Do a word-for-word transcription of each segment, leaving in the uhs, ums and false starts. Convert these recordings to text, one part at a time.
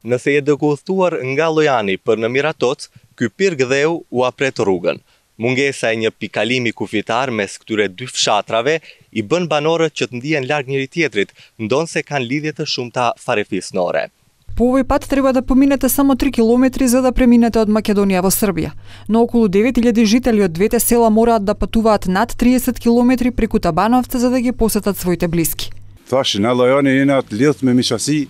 Nëse je dëkulltuar nga lojani për në Miratoc, ky pirgdheu u apret rrugën. Mungesa e një pikalimi kufitar mes këtyre dy fshatrave i bën banorët që të ndihen larg njëri tjetrit, ndonse kanë lidhje të shumta farefisnore. По овој пат треба да поминете само три километри за да преминете од Македонија во Србија. Но околу девет илјади жители од двете села мораат да патуваат над триесет километри преку Табановци за да ги посетат своите блиски. Таши на лајони инат лилтме мишаси.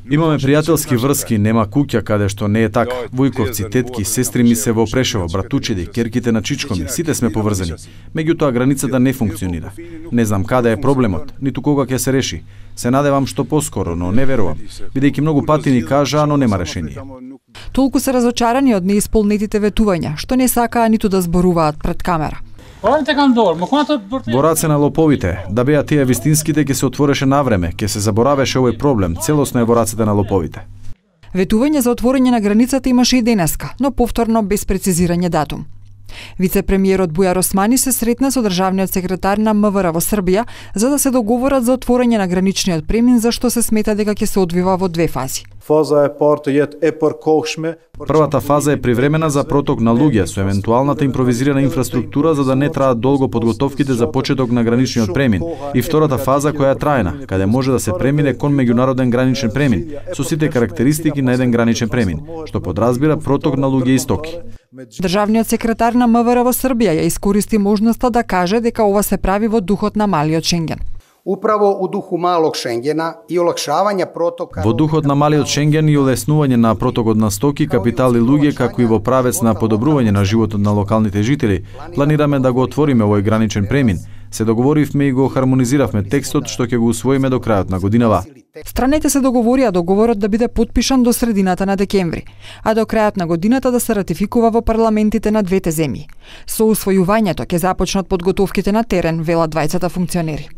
Имаме пријателски врски, нема куќа каде што не е така. Војковци, тетки, сестри ми се во Прешево, братучиди, керките на чичко ми, сите сме поврзани. Меѓутоа границата не функционира. Не знам каде е проблемот, ниту кога ќе се реши. Се надевам што поскоро, но не верувам, бидејќи многу пати ни кажаа, но нема решение. Толку се разочарани од неисполнетите ветувања, што не сакаа ниту да зборуваат пред камера. Во раце на лоповите, да беа тие вистинските ќе се отвореше навреме, ќе се заборавеше овој проблем, целосно е во рацете на лоповите. Ветување за отворање на границата имаше и денеска, но повторно без прецизирање датум. Вице-премиерот Бујар Османи се сретна со државниот секретар на М В Р во Србија за да се договорат за отворање на граничниот премин, за што се смета дека ќе се одвива во две фази. Првата фаза е привремена за проток на луѓе со евентуалната импровизирана инфраструктура за да не траат долго подготовките за почеток на граничниот премин, и втората фаза која е трајна, каде може да се премине кон меѓународен граничен премин со сите карактеристики на еден граничен премин, што подразбира проток на луѓе и стоки. Државниот секретар на М В Р во Србија ја искористи можноста да каже дека ова се прави во духот на малиот Шенген. Управо у духу малог Шенгена и олакшавање протока. Во духот на малиот Шенген и улеснување на протокот на стоки, капитал и луѓе, како и во правец на подобрување на животот на локалните жители, планираме да го отвориме овој граничен премин. Се договоривме и го хармонизиравме текстот што ќе го усвоиме до крајот на годинава. Страните се договорија договорот да биде потпишан до средината на декември, а до крајот на годината да се ратификува во парламентите на двете земји. Со усвојувањето ќе започнат подготовките на терен, велат двајцата функционери.